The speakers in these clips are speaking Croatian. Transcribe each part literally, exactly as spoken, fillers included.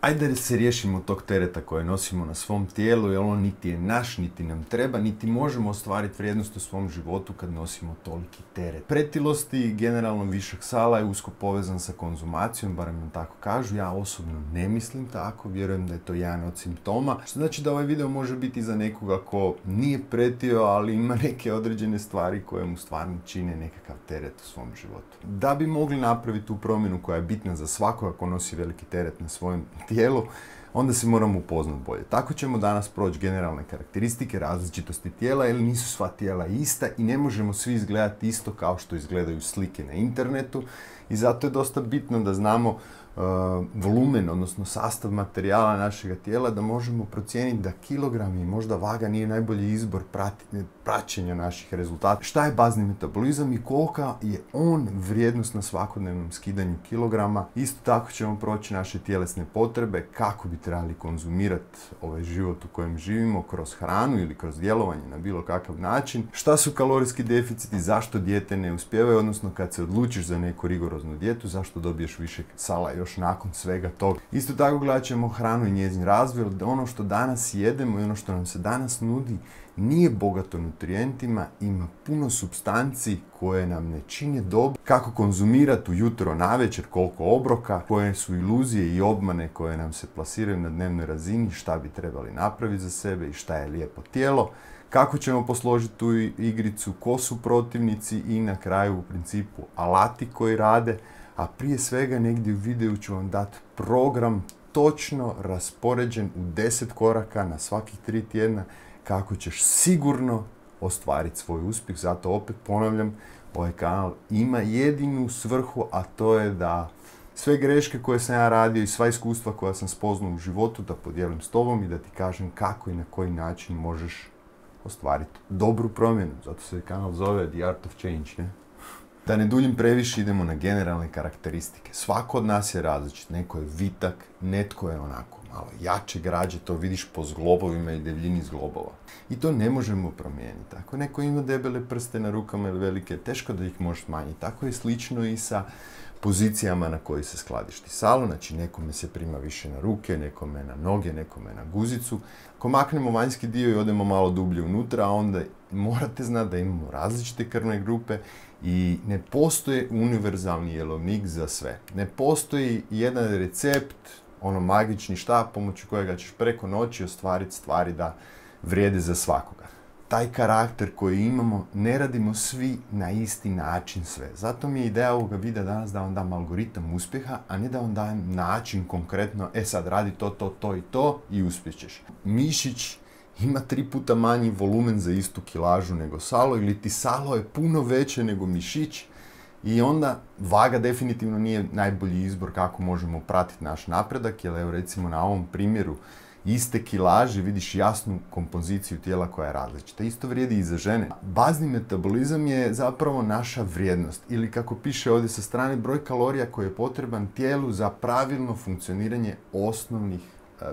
Ajde da se riješimo tog tereta koje nosimo na svom tijelu, jer on niti je naš, niti nam treba, niti možemo ostvariti vrijednost u svom životu kad nosimo toliki teret. Pretilost i generalno višak sala je usko povezan sa konzumacijom, barem nam tako kažu. Ja osobno ne mislim tako, vjerujem da je to jedan od simptoma. Što znači da ovaj video može biti za nekoga ko nije pretio, ali ima neke određene stvari koje mu stvarno čine nekakav teret u svom životu. Da bi mogli napraviti tu promjenu koja je bitna za svakoga ko nosi veliki teret na svojem tijelu, onda se moramo upoznati bolje. Tako ćemo danas proći generalne karakteristike različitosti tijela, jer nisu sva tijela ista i ne možemo svi izgledati isto kao što izgledaju slike na internetu, i zato je dosta bitno da znamo uh, volumen, odnosno sastav materijala našega tijela, da možemo procijeniti da kilogrami i možda vaga nije najbolji izbor praćenja naših rezultata. Šta je bazni metabolizam i kolika je on vrijednost na svakodnevnom skidanju kilograma. Isto tako ćemo proći naše tjelesne potrebe, kako bi trebali konzumirati ovaj život u kojem živimo kroz hranu ili kroz djelovanje na bilo kakav način. Šta su kalorijski deficiti, zašto dijete ne uspijevaju, odnosno kad se odlučiš za neku rigoroznu dijetu, zašto dobiješ više sala još nakon svega toga. Isto tako gledat ćemo hranu i njezin razvoj, da ono što danas jedemo i ono što nam se danas nudi nije bogato nutrijentima, ima puno supstanci koje nam ne čine dobro. Kako konzumirati ujutro, navečer, koliko obroka, koje su iluzije i obmane koje nam se plasiraju na dnevnoj razini, šta bi trebali napraviti za sebe i šta je lijepo tijelo, kako ćemo posložiti tu igricu, ko su protivnici i na kraju u principu alati koji rade, a prije svega negdje u videu ću vam dati program točno raspoređen u deset koraka na svakih tri tjedna kako ćeš sigurno ostvariti svoj uspjeh. Zato opet ponavljam, ovaj kanal ima jedinu svrhu, a to je da sve greške koje sam ja radio i sva iskustva koja sam spoznao u životu da podijelim s tobom i da ti kažem kako i na koji način možeš ostvariti dobru promjenu. Zato se kanal zove The Art of Change, ne? Da ne duljim previše, idemo na generalne karakteristike. Svako od nas je različit. Neko je vitak, netko je onako malo jače građe, to vidiš po zglobovima i debljini zglobova. I to ne možemo promijeniti. Ako neko ima debele prste na rukama ili velike, teško da ih možeš smanjiti. Tako je slično i sa pozicijama na koji se skladišti salo, znači nekome se prima više na ruke, nekome na noge, nekome na guzicu. Ako maknemo vanjski dio i odemo malo dublje unutra, onda morate znati da imamo različite krvne grupe i ne postoji univerzalni jelovnik za sve. Ne postoji jedan recept, ono magični štap pomoću kojega ćeš preko noći ostvariti stvari da vrijede za svakoga. Taj karakter koji imamo ne radimo svi na isti način sve. Zato mi je ideja ovoga videa danas da vam dam algoritam uspjeha, a ne da vam dajem način konkretno, e sad radi to, to, to i to i uspjećeš. Mišić ima tri puta manji volumen za istu kilažu nego salo, ili ti salo je puno veće nego mišić, i onda vaga definitivno nije najbolji izbor kako možemo pratiti naš napredak, jer evo recimo na ovom primjeru iste kilaže vidiš jasnu kompoziciju tijela koja je različita. Isto vrijedi i za žene. Bazni metabolizam je zapravo naša vrijednost, ili kako piše ovdje sa strane, broj kalorija koji je potreban tijelu za pravilno funkcioniranje osnovnih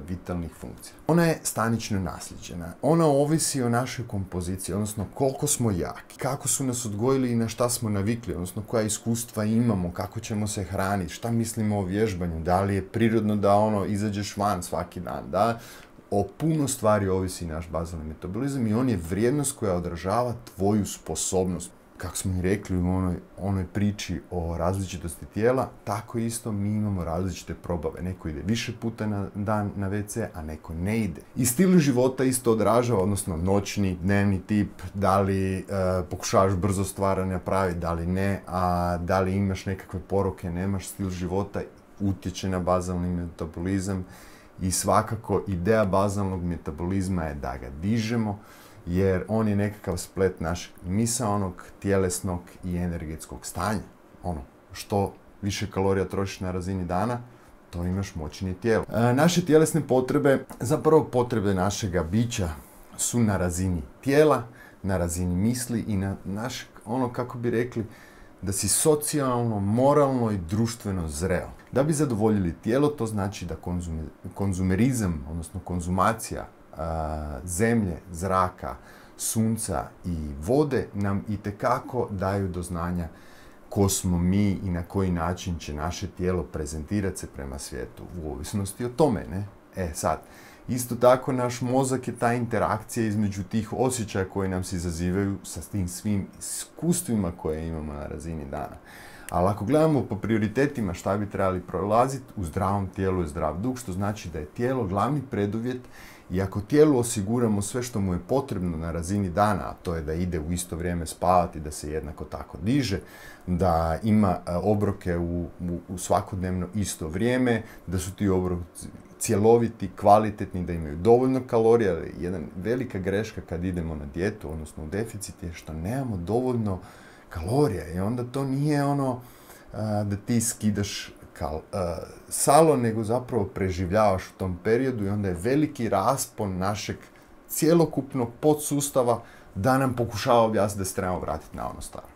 vitalnih funkcija. Ona je stanično nasljeđena. Ona ovisi o našoj kompoziciji, odnosno koliko smo jaki, kako su nas odgojili i na šta smo navikli, odnosno koja iskustva imamo, kako ćemo se hraniti, šta mislimo o vježbanju, da li je prirodno da ono izađeš van svaki dan, da o puno stvari ovisi naš bazalni metabolizam i on je vrijednost koja odražava tvoju sposobnost. Kako smo i rekli u onoj, onoj priči o različitosti tijela, tako isto mi imamo različite probave. Neko ide više puta na dan na ve ce, a neko ne ide. I stil života isto odražava, odnosno noćni, dnevni tip, da li e, pokušavaš brzo stvaranje napraviti, da li ne, a da li imaš nekakve poroke, nemaš, stil života utječe na bazalni metabolizam i svakako ideja bazalnog metabolizma je da ga dižemo, jer on je nekakav splet našeg misaonog, tjelesnog i energetskog stanja. Ono, što više kalorija trošiš na razini dana, to imaš moćnije tijelo. E, naše tjelesne potrebe, zapravo potrebe našega bića, su na razini tijela, na razini misli i na naš, ono kako bi rekli, da si socijalno, moralno i društveno zreo. Da bi zadovoljili tijelo, to znači da konzume, konzumerizam, odnosno konzumacija zemlje, zraka, sunca i vode nam itekako daju do znanja ko smo mi i na koji način će naše tijelo prezentirati se prema svijetu, u ovisnosti o tome, ne? E sad, isto tako naš mozak je ta interakcija između tih osjećaja koji nam se izazivaju sa tim svim iskustvima koje imamo na razini dana. Ali ako gledamo po prioritetima šta bi trebali prolaziti, u zdravom tijelu je zdrav duh, što znači da je tijelo glavni preduvjet i ako tijelu osiguramo sve što mu je potrebno na razini dana, a to je da ide u isto vrijeme spavati, da se jednako tako diže, da ima obroke u, u, u svakodnevno isto vrijeme, da su ti obroci cjeloviti, kvalitetni, da imaju dovoljno kalorija. Jedna velika greška kad idemo na dijetu, odnosno u deficit, je što nemamo dovoljno kalorija i onda to nije ono a, da ti skidaš kal, a, salo, nego zapravo preživljavaš u tom periodu i onda je veliki raspon našeg cjelokupnog podsustava da nam pokušava objasniti da se trebamo vratiti na ono staro.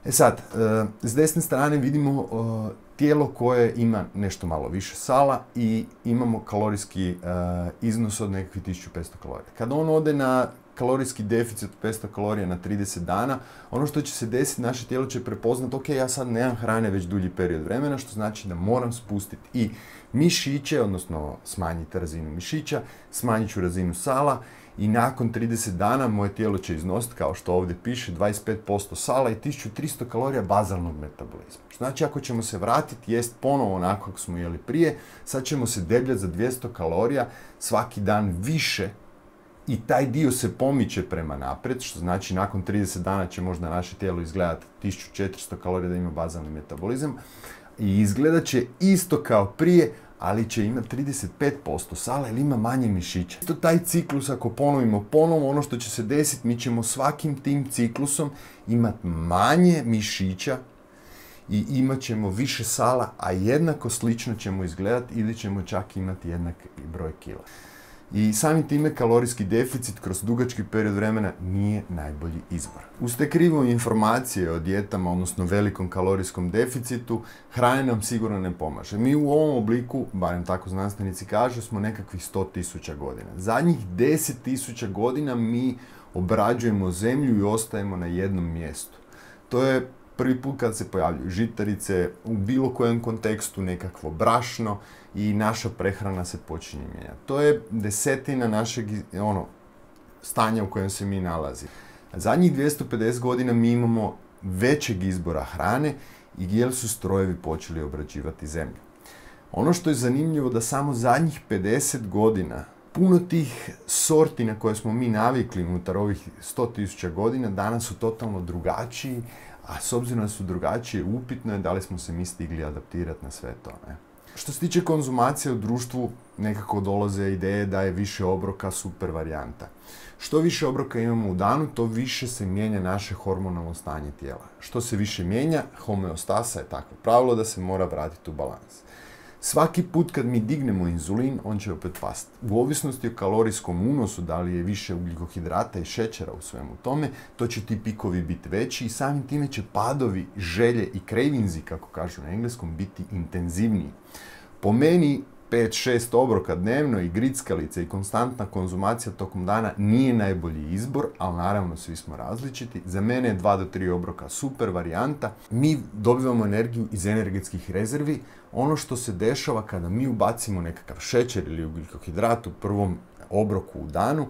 E sad, a, s desne strane vidimo a, tijelo koje ima nešto malo više sala i imamo kalorijski a, iznos od nekakvih tisuću petsto kalorija. Kad on ode na kalorijski deficit od petsto kalorija na trideset dana, ono što će se desiti, naše tijelo će prepoznati, ok, ja sad nemam hrane već dulji period vremena, što znači da moram spustiti i mišiće, odnosno smanjiti razinu mišića, smanjit ću razinu sala i nakon trideset dana moje tijelo će iznositi, kao što ovdje piše, dvadeset pet posto sala i tisuću tristo kalorija bazalnog metabolizma. Što znači, ako ćemo se vratiti, jest ponovo onako kako smo jeli prije, sad ćemo se debljati za dvjesto kalorija svaki dan više. I taj dio se pomiče prema naprijed, što znači nakon trideset dana će možda naše tijelo izgledati tisuću četiristo kalorija da ima bazalni metabolizam i izgledat će isto kao prije, ali će imati trideset pet posto sala ili ima manje mišića. To taj ciklus, ako ponovimo ponovo, ono što će se desiti, mi ćemo svakim tim ciklusom imati manje mišića i imat ćemo više sala, a jednako slično ćemo izgledati ili ćemo čak imati jednak broj kila. I samim time kalorijski deficit kroz dugački period vremena nije najbolji izbor. Uz te krive informacije o dijetama, odnosno velikom kalorijskom deficitu, hrana nam sigurno ne pomaže. Mi u ovom obliku, barem tako znanstvenici kažu, smo nekakvih sto tisuća godina. Zadnjih deset tisuća godina mi obrađujemo zemlju i ostajemo na jednom mjestu. To je prvi put kad se pojavljuju žitarice, u bilo kojem kontekstu nekakvo brašno i naša prehrana se počinje mijenjati. To je desetina našeg ono, stanja u kojem se mi nalazi. Zadnjih dvjesto pedeset godina mi imamo većeg izbora hrane i jer su strojevi počeli obrađivati zemlju. Ono što je zanimljivo da samo zadnjih pedeset godina puno tih sorti na koje smo mi navikli unutar ovih sto tisuća godina danas su totalno drugačiji, a s obzirom da su drugačije, upitno je da li smo se mi stigli adaptirati na sve to. Ne? Što se tiče konzumacije u društvu, nekako dolaze ideje da je više obroka super varijanta. Što više obroka imamo u danu, to više se mijenja naše hormonalno stanje tijela. Što se više mijenja, homeostasa je takvo pravilo da se mora vratiti u balans. Svaki put kad mi dignemo inzulin, on će opet pasti. U ovisnosti o kalorijskom unosu, da li je više ugljikohidrata i šećera u svemu tome, to će ti pikovi biti veći i samim time će padovi, želje i cravinzi, kako kažu na engleskom, biti intenzivniji. Po meni, pet šest obroka dnevno i grickalice i konstantna konzumacija tokom dana nije najbolji izbor, ali naravno svi smo različiti. Za mene je dva do tri obroka super varijanta. Mi dobivamo energiju iz energetskih rezervi. Ono što se dešava kada mi ubacimo nekakav šećer ili ugljikohidrat u prvom obroku u danu,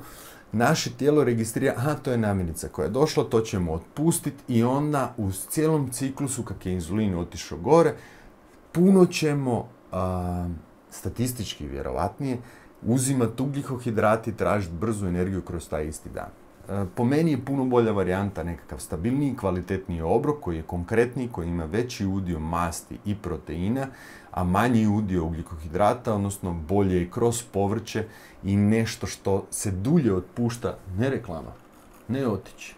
naše tijelo registrira, aha, to je namirnica koja je došla, to ćemo otpustiti i onda u cijelom ciklusu, kak je inzulin otišao gore, puno ćemo, a, statistički vjerovatnije, uzimati ugljikohidrat i tražiti brzu energiju kroz taj isti dan. Po meni je puno bolja varijanta nekakav stabilniji, kvalitetniji obrok koji je konkretniji, koji ima veći udio masti i proteina, a manji udio ugljikohidrata, odnosno bolje i kroz povrće i nešto što se dulje otpušta, ne reklama, ne otići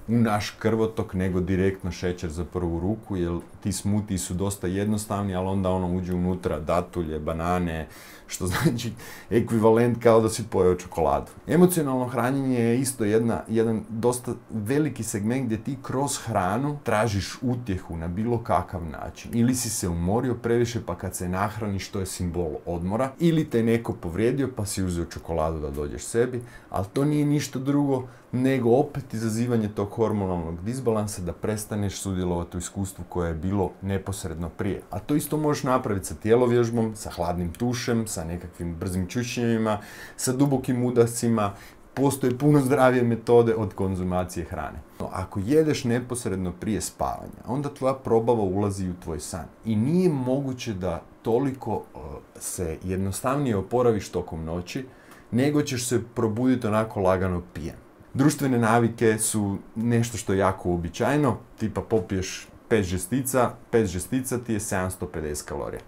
u naš krvotok nego direktno šećer za prvu ruku, jer ti smutiji su dosta jednostavni, ali onda ono uđe unutra datulje, banane, što znači ekvivalent kao da si pojeo čokoladu. Emocionalno hranjenje je isto jedna, jedan dosta veliki segment gdje ti kroz hranu tražiš utjehu na bilo kakav način. Ili si se umorio previše pa kad se nahraniš to je simbol odmora, ili te neko povrijedio pa si uzeo čokoladu da dođeš sebi, ali to nije ništa drugo nego opet izazivanje tog hormonalnog disbalansa da prestaneš sudjelovati u iskustvu koje je bilo neposredno prije. A to isto možeš napraviti sa tjelovježbom, sa hladnim tušem, sa nekakvim brzim čučnjevima, sa dubokim udascima. Postoje puno zdravije metode od konzumacije hrane. No, ako jedeš neposredno prije spavanja, onda tvoja probava ulazi u tvoj san. I nije moguće da toliko uh, se jednostavnije oporaviš tokom noći, nego ćeš se probuditi onako lagano pijen. Društvene navike su nešto što je jako uobičajeno, tipa popiješ pet žestica, pet žestica ti je sedamsto pedeset kalorija.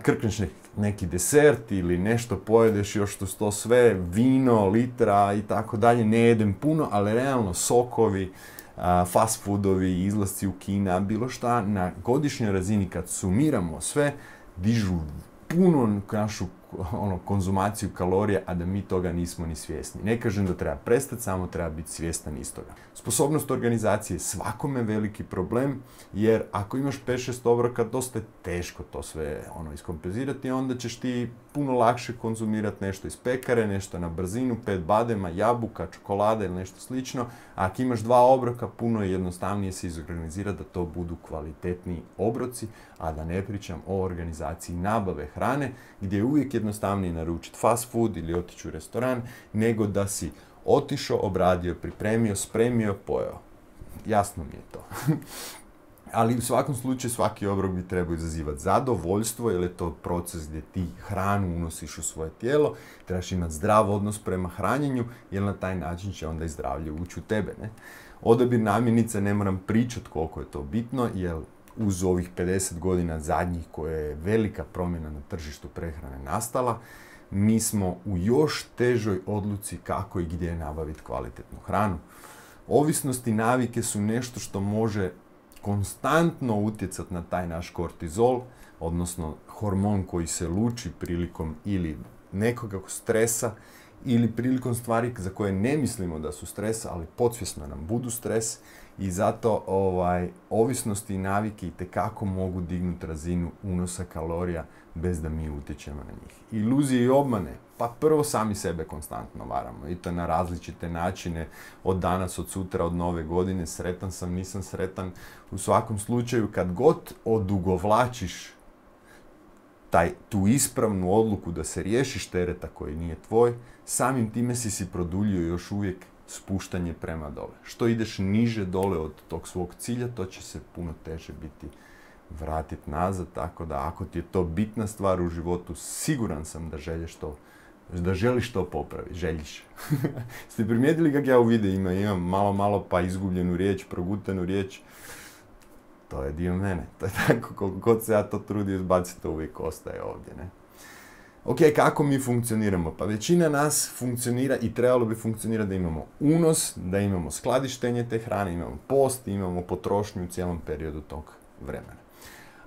Krkneš neki desert ili nešto pojedeš još to, to sve, vino, litra i tako dalje, ne jedem puno, ali realno sokovi, fast foodovi, izlasci u kina, bilo šta, na godišnjoj razini kad sumiramo sve, dižu puno našu ono, konzumaciju kalorija, a da mi toga nismo ni svjesni. Ne kažem da treba prestati, samo treba biti svjestan istoga. Sposobnost organizacije je svakome veliki problem, jer ako imaš pet šest obroka, dosta je teško to sve ono, iskompenzirati, onda ćeš ti puno lakše konzumirati nešto iz pekare, nešto na brzinu, pet badema, jabuka, čokolade ili nešto slično. A ako imaš dva obroka, puno je jednostavnije se izorganizirati da to budu kvalitetniji obroci, a da ne pričam o organizaciji nabave hrane, gdje je uvijek jednostavnije naručiti fast food ili otići u restoran, nego da si otišao, obradio, pripremio, spremio, pojeo. Jasno mi je to. Ali u svakom slučaju svaki obrok bi trebao izazivati zadovoljstvo, jer je to proces gdje ti hranu unosiš u svoje tijelo, trebaš imati zdrav odnos prema hranjenju, jer na taj način će onda i zdravlje ući u tebe. Ne? Odabir namirnica ne moram pričati koliko je to bitno, jer uz ovih pedeset godina zadnjih koje je velika promjena na tržištu prehrane nastala, mi smo u još težoj odluci kako i gdje nabaviti kvalitetnu hranu. Ovisnost i navike su nešto što može konstantno utjecati na taj naš kortizol, odnosno hormon koji se luči prilikom ili nekog stresa ili prilikom stvari za koje ne mislimo da su stres, ali podsvjesno nam budu stres i zato ovaj, ovisnosti i navike itekako mogu dignuti razinu unosa kalorija bez da mi utječemo na njih. Iluzije i obmane, pa prvo sami sebe konstantno varamo i to na različite načine, od danas, od sutra, od nove godine, sretan sam, nisam sretan. U svakom slučaju, kad god odugovlačiš taj, tu ispravnu odluku da se riješiš tereta koji nije tvoj, samim time si si produljio još uvijek spuštanje prema dole. Što ideš niže dole od tog svog cilja, to će se puno teže biti vratiti nazad, tako da ako ti je to bitna stvar u životu, siguran sam da želiš to, da želiš to popraviti, želiš. Ste primijetili kako ja u videima imam malo, malo pa izgubljenu riječ, progutanu riječ? To je dio mene. To je tako, koliko god se ja to trudio izbaciti, to uvijek ostaje ovdje, ne? Ok, kako mi funkcioniramo? Pa većina nas funkcionira i trebalo bi funkcionirati da imamo unos, da imamo skladištenje te hrane, imamo post, imamo potrošnju u cijelom periodu tog vremena.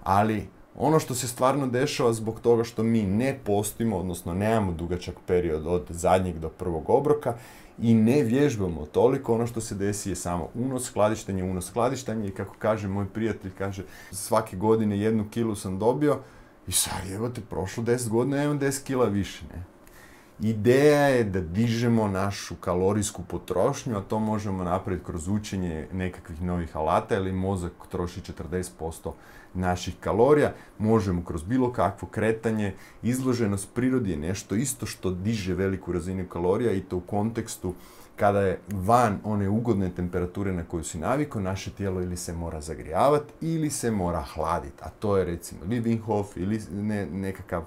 Ali ono što se stvarno dešava zbog toga što mi ne postimo, odnosno nemamo dugačak period od zadnjeg do prvog obroka i ne vježbamo toliko, ono što se desi je samo unos, skladištenje, unos, skladištenje i kako kaže moj prijatelj, kaže svake godine jednu kilu sam dobio i sad evo te prošlo deset godina, imam deset kila više, ne? Ideja je da dižemo našu kalorijsku potrošnju, a to možemo napraviti kroz učenje nekakvih novih alata, ili mozak troši četrdeset posto naših kalorija, možemo kroz bilo kakvo kretanje. Izloženost prirodi je nešto isto što diže veliku razinu kalorija i to u kontekstu kada je van one ugodne temperature na koju si navikao, naše tijelo ili se mora zagrijavati ili se mora hladiti, a to je recimo ili Wim Hof ili ne, nekakav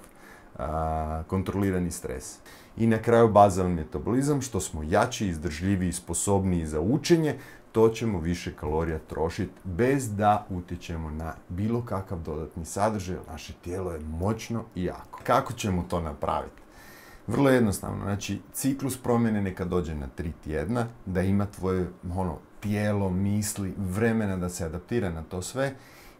a, kontrolirani stres. I na kraju bazalni metabolizam, što smo jači, izdržljiviji, sposobniji za učenje, to ćemo više kalorija trošiti bez da utječemo na bilo kakav dodatni sadržaj. Naše tijelo je moćno i jako. Kako ćemo to napraviti? Vrlo jednostavno, znači ciklus promjene neka dođe na tri tjedna, da ima tvoje ono, tijelo, misli, vremena da se adaptira na to sve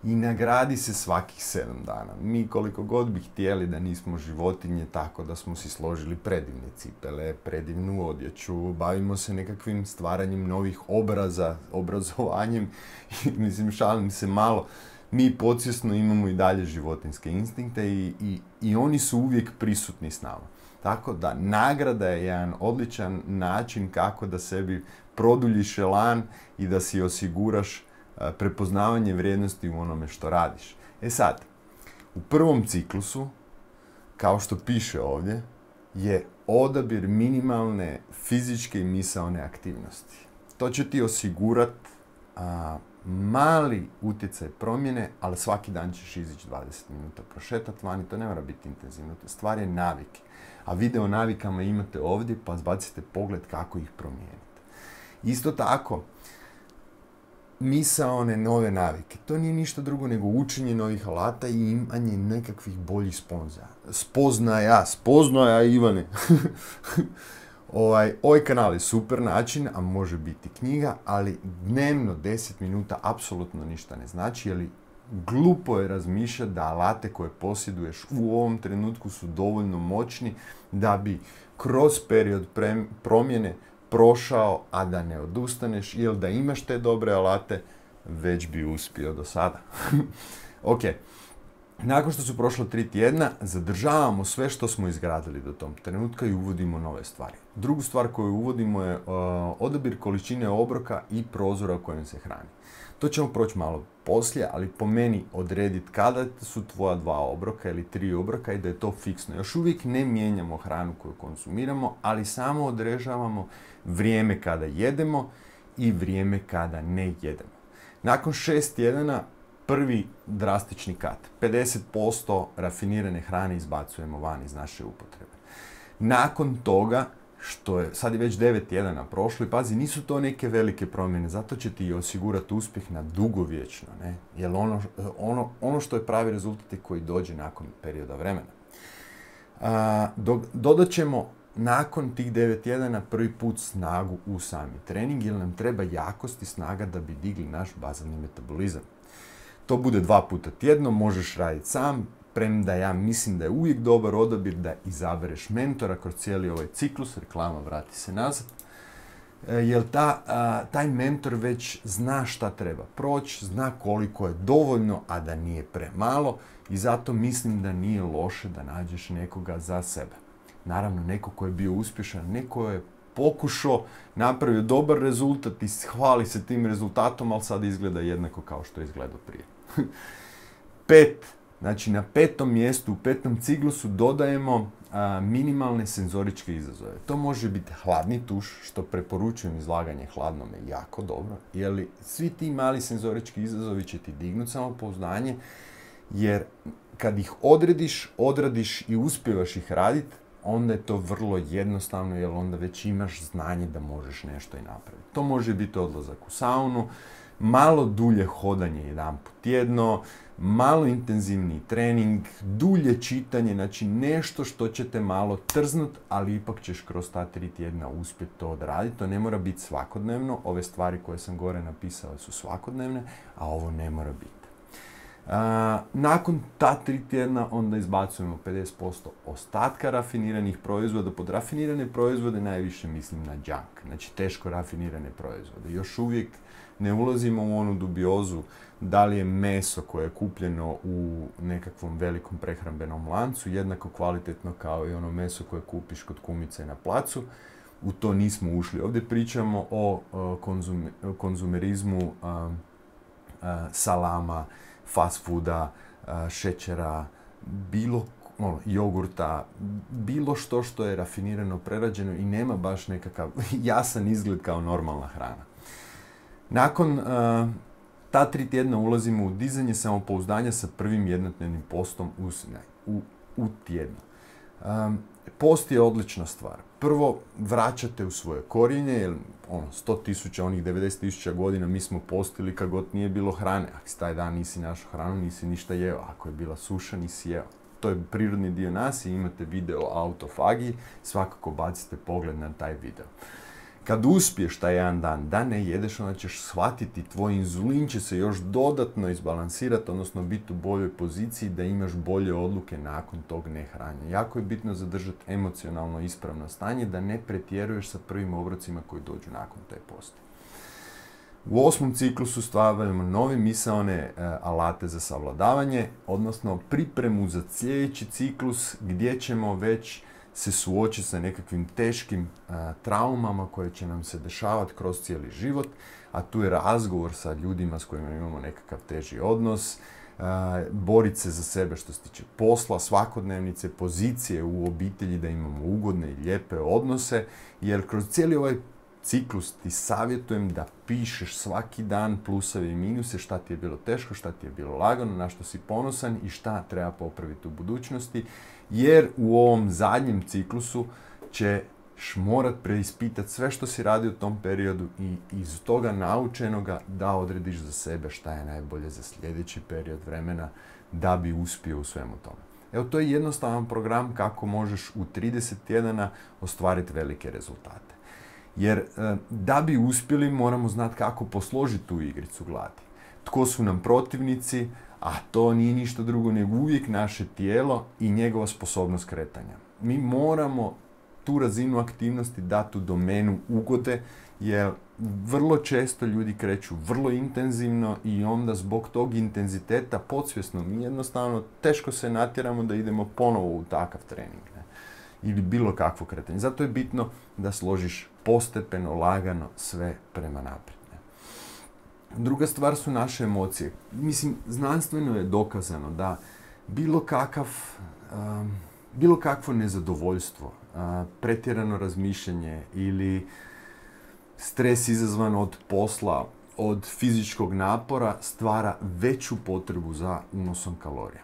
i nagradi se svakih sedam dana. Mi koliko god bi htjeli da nismo životinje, tako da smo si složili predivne cipele, predivnu odjeću, bavimo se nekakvim stvaranjem novih obraza, obrazovanjem, mislim šalim se malo, mi podsvjesno imamo i dalje životinjske instinkte i, i, i oni su uvijek prisutni s nama. Tako da nagrada je jedan odličan način kako da sebi produljiš elan i da si osiguraš prepoznavanje vrijednosti u onome što radiš. E sad, u prvom ciklusu, kao što piše ovdje, je odabir minimalne fizičke i misaone aktivnosti. To će ti osigurati mali utjecaj promjene, ali svaki dan ćeš izići dvadeset minuta prošetati vani, to ne mora biti intenzivno, to stvar je navike. A video navikama imate ovdje, pa zbacite pogled kako ih promijeniti. Isto tako, misaone nove navike. To nije ništa drugo nego učenje novih alata i imanje nekakvih boljih spoznaja. Spoznaja, spoznaja Ivane. ovaj, ovaj kanal je super način, a može biti knjiga, ali dnevno deset minuta apsolutno ništa ne znači, jer glupo je razmišljati da alate koje posjeduješ u ovom trenutku su dovoljno moćni da bi kroz period pre- promjene prošao, a da ne odustaneš, ili da imaš te dobre alate, već bi uspio do sada. Ok, nakon što su prošla tri tjedna, zadržavamo sve što smo izgradili do tom trenutka i uvodimo nove stvari. Drugu stvar koju uvodimo je uh, odabir količine obroka i prozora u kojem se hrani. To ćemo proći malo poslije, ali po meni odrediti kada su tvoja dva obroka ili tri obroka i da je to fiksno. Još uvijek ne mijenjamo hranu koju konzumiramo, ali samo određavamo vrijeme kada jedemo i vrijeme kada ne jedemo. Nakon šest tjedana prvi drastični kat. pedeset posto rafinirane hrane izbacujemo van iz naše upotrebe. Nakon toga, što je, sad je već devet tjedana prošlo i pazi, nisu to neke velike promjene, zato će ti osigurati uspjeh na dugovječno, ne? Jer ono, ono, ono što je pravi rezultat je koji dođe nakon perioda vremena. A, do, dodat ćemo nakon tih devet tjedana prvi put snagu u sami trening, jer nam treba jakost i snaga da bi digli naš bazalni metabolizam. To bude dva puta tjedno, možeš raditi sam, premda ja mislim da je uvijek dobar odabir da izabereš mentora kroz cijeli ovaj ciklus, reklama vrati se nazad, jer ta, a, taj mentor već zna šta treba proći, zna koliko je dovoljno, a da nije premalo i zato mislim da nije loše da nađeš nekoga za sebe. Naravno, neko ko je bio uspješan, neko je pokušao, napravio dobar rezultat i hvali se tim rezultatom, ali sad izgleda jednako kao što je izgledao prije. Pet. Znači, na petom mjestu, u petom ciklusu dodajemo a, minimalne senzoričke izazove. To može biti hladni tuš, što preporučujem izlaganje hladnome jako dobro, jer svi ti mali senzorički izazovi će ti dignuti samopouzdanje, jer kad ih odrediš, odradiš i uspijevaš ih raditi, onda je to vrlo jednostavno, jer onda već imaš znanje da možeš nešto i napraviti. To može biti odlazak u saunu, malo dulje hodanje jedanput tjedno, malo intenzivniji trening, dulje čitanje, znači nešto što će te malo trznut, ali ipak ćeš kroz ta tri tjedna uspjeti to odraditi. To ne mora biti svakodnevno, ove stvari koje sam gore napisao su svakodnevne, a ovo ne mora biti. Uh, nakon ta tri tjedna onda izbacujemo pedeset posto ostatka rafiniranih proizvoda. Pod rafinirane proizvode najviše mislim na junk, znači teško rafinirane proizvode. Još uvijek ne ulazimo u onu dubiozu da li je meso koje je kupljeno u nekakvom velikom prehrambenom lancu jednako kvalitetno kao i ono meso koje kupiš kod kumice na placu. U to nismo ušli. Ovdje pričamo o uh, konzum, konzumerizmu uh, uh, salama, fast fooda, šećera, bilo ono, jogurta, bilo što što je rafinirano, prerađeno i nema baš nekakav jasan izgled kao normalna hrana. Nakon uh, ta tri tjedna ulazimo u dizanje samopouzdanja sa prvim jednodnevnim postom u, u, u tjednu. Um, post je odlična stvar. Prvo, vraćate u svoje korijenje, jer ono, sto tisuća, onih devedeset tisuća godina mi smo postili kad god nije bilo hrane. Ako si taj dan nisi našao hranu, nisi ništa jeo. Ako je bila suša, nisi jeo. To je prirodni dio nas i imate video o autofagiji, svakako bacite pogled na taj video. Kad uspiješ taj jedan dan da ne jedeš, onda ćeš shvatiti, tvoj inzulin će se još dodatno izbalansirati, odnosno biti u boljoj poziciji da imaš bolje odluke nakon tog nehranjenja. Jako je bitno zadržati emocionalno ispravno stanje, da ne pretjeruješ sa prvim obrocima koji dođu nakon te posti. U osmom ciklusu stavljamo nove misaone e, alate za savladavanje, odnosno pripremu za sljedeći ciklus gdje ćemo već se suočiti sa nekakvim teškim a, traumama koje će nam se dešavati kroz cijeli život, a tu je razgovor sa ljudima s kojima imamo nekakav teži odnos, a, boriti se za sebe što se tiče posla, svakodnevnice, pozicije u obitelji, da imamo ugodne i lijepe odnose, jer kroz cijeli ovaj ciklus ti savjetujem da pišeš svaki dan pluseve i minuse, šta ti je bilo teško, šta ti je bilo lagano, na što si ponosan i šta treba popraviti u budućnosti, jer u ovom zadnjem ciklusu ćeš morat preispitati sve što si radio u tom periodu i iz toga naučenoga da odrediš za sebe šta je najbolje za sljedeći period vremena da bi uspio u svemu tome. Evo, to je jednostavan program kako možeš u trideset tjedana ostvariti velike rezultate. Jer da bi uspjeli moramo znati kako posložiti tu igricu gladi. Tko su nam protivnici, a to nije ništa drugo nego uvijek naše tijelo i njegova sposobnost kretanja. Mi moramo tu razinu aktivnosti dati u domenu ugode, jer vrlo često ljudi kreću vrlo intenzivno i onda zbog tog intenziteta podsvjesno mi jednostavno teško se natjeramo da idemo ponovo u takav trening, ne? Ili bilo kakvo kretanje. Zato je bitno da složiš postepeno, lagano sve prema naprijed. Ne? Druga stvar su naše emocije. Mislim, znanstveno je dokazano da bilo kakav, um, bilo kakvo nezadovoljstvo, uh, pretjerano razmišljanje ili stres izazvan od posla, od fizičkog napora stvara veću potrebu za unosom kalorija.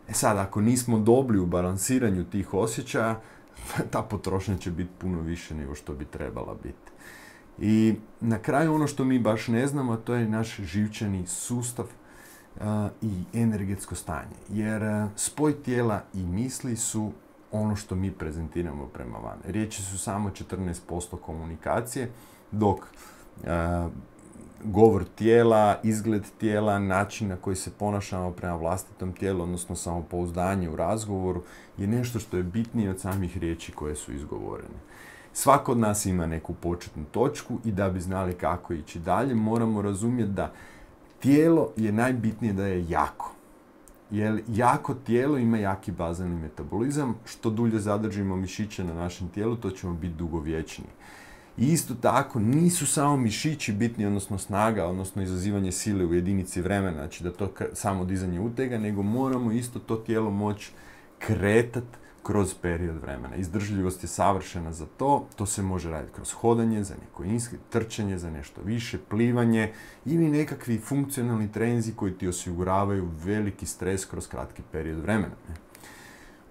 E sad, ako nismo dobri u balansiranju tih osjećaja, ta potrošnja će biti puno više nego što bi trebala biti. I na kraju ono što mi baš ne znamo, to je naš živčani sustav uh, i energetsko stanje. Jer uh, spoj tijela i misli su ono što mi prezentiramo prema van. Riječi su samo četrnaest posto komunikacije, dok uh, govor tijela, izgled tijela, način na koji se ponašamo prema vlastitom tijelu, odnosno samopouzdanje u razgovoru, je nešto što je bitnije od samih riječi koje su izgovorene. Svako od nas ima neku početnu točku i da bi znali kako ići dalje, moramo razumjeti da tijelo je najbitnije da je jako. Jer jako tijelo ima jaki bazalni metabolizam, što dulje zadržimo mišiće na našem tijelu, to ćemo biti dugovječniji. I isto tako, nisu samo mišići bitni, odnosno snaga, odnosno izazivanje sile u jedinici vremena, znači da to samo dizanje utega, nego moramo isto to tijelo moći kretati kroz period vremena. Izdržljivost je savršena za to, to se može raditi kroz hodanje, za neko trčanje, za nešto više, plivanje ili nekakvi funkcionalni treninzi koji ti osiguravaju veliki stres kroz kratki period vremena.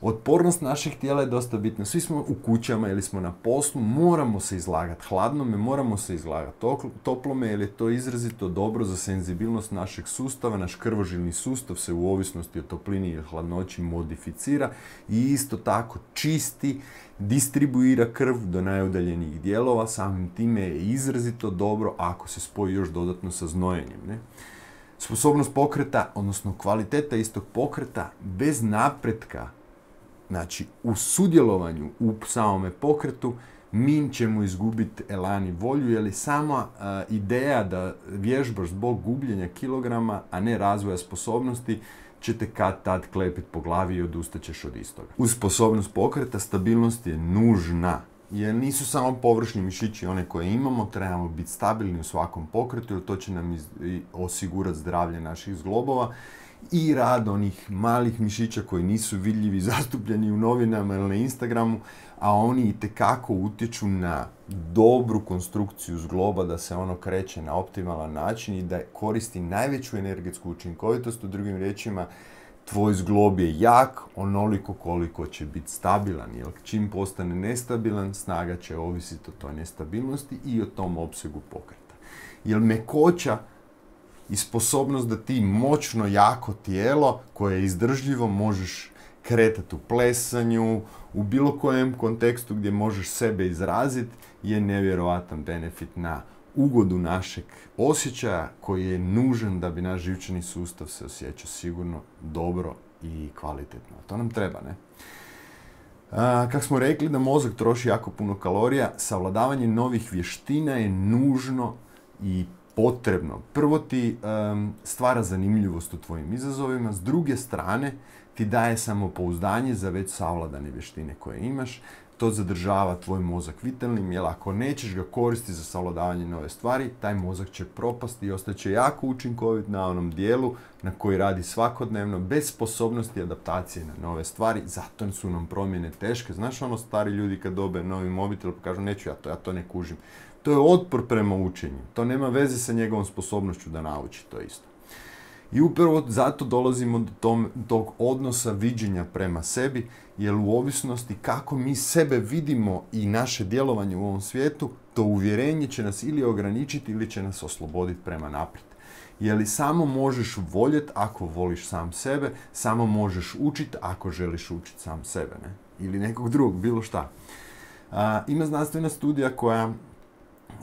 Otpornost naših tijela je dosta bitna. Svi smo u kućama ili smo na poslu, moramo se izlagati hladnome, moramo se izlagati toplome, jer je to izrazito dobro za senzibilnost našeg sustava. Naš krvožilni sustav se u ovisnosti o toplini i hladnoći modificira i isto tako čisti, distribuira krv do najudaljenijih dijelova. Samim time je izrazito dobro ako se spoji još dodatno sa znojenjem, ne? Sposobnost pokreta, odnosno kvaliteta istog pokreta bez napretka, znači u sudjelovanju u samome pokretu, mi ćemo izgubiti elan i volju, jer je sama a, ideja da vježbaš zbog gubljenja kilograma, a ne razvoja sposobnosti, će te kad tad klepiti po glavi i odustaćeš od istoga. Uz sposobnost pokreta, stabilnost je nužna. Jer nisu samo površni mišići one koje imamo, trebamo biti stabilni u svakom pokretu, jer to će nam iz, osigurati zdravlje naših zglobova i rad onih malih mišića koji nisu vidljivi, zastupljeni u novinama ili na Instagramu, a oni itekako utječu na dobru konstrukciju zgloba, da se ono kreće na optimalan način i da koristi najveću energetsku učinkovitost. U drugim riječima, tvoj zglob je jak onoliko koliko će biti stabilan, jer čim postane nestabilan, snaga će ovisiti o toj nestabilnosti i o tom opsegu pokreta. Jer mekoća i sposobnost da ti moćno jako tijelo koje je izdržljivo možeš kretati u plesanju, u bilo kojem kontekstu gdje možeš sebe izraziti, je nevjerojatan benefit na ugodu našeg osjećaja koji je nužan da bi naš živčani sustav se osjećao sigurno, dobro i kvalitetno. To nam treba, ne? A, kako smo rekli da mozak troši jako puno kalorija, savladavanje novih vještina je nužno i potrebno. Prvo ti um, stvara zanimljivost u tvojim izazovima, s druge strane ti daje samopouzdanje za već savladane vještine koje imaš, to zadržava tvoj mozak vitalnim, jer ako nećeš ga koristiti za savladavanje nove stvari, taj mozak će propasti i ostaće jako učinkovit na onom dijelu na koji radi svakodnevno, bez sposobnosti adaptacije na nove stvari, zato su nam promjene teške. Znaš ono, stari ljudi kad dobe novi mobitel pa kažu neću ja to, ja to ne kužim. To je otpor prema učenju, to nema veze sa njegovom sposobnošću da nauči to isto. I upravo zato dolazimo do tom, tog odnosa viđenja prema sebi, jer u ovisnosti kako mi sebe vidimo i naše djelovanje u ovom svijetu, to uvjerenje će nas ili ograničiti ili će nas osloboditi prema naprijed. Jer li samo možeš voljeti ako voliš sam sebe, samo možeš učiti ako želiš učiti sam sebe, ne? Ili nekog drugog, bilo šta. A, ima znanstvena studija koja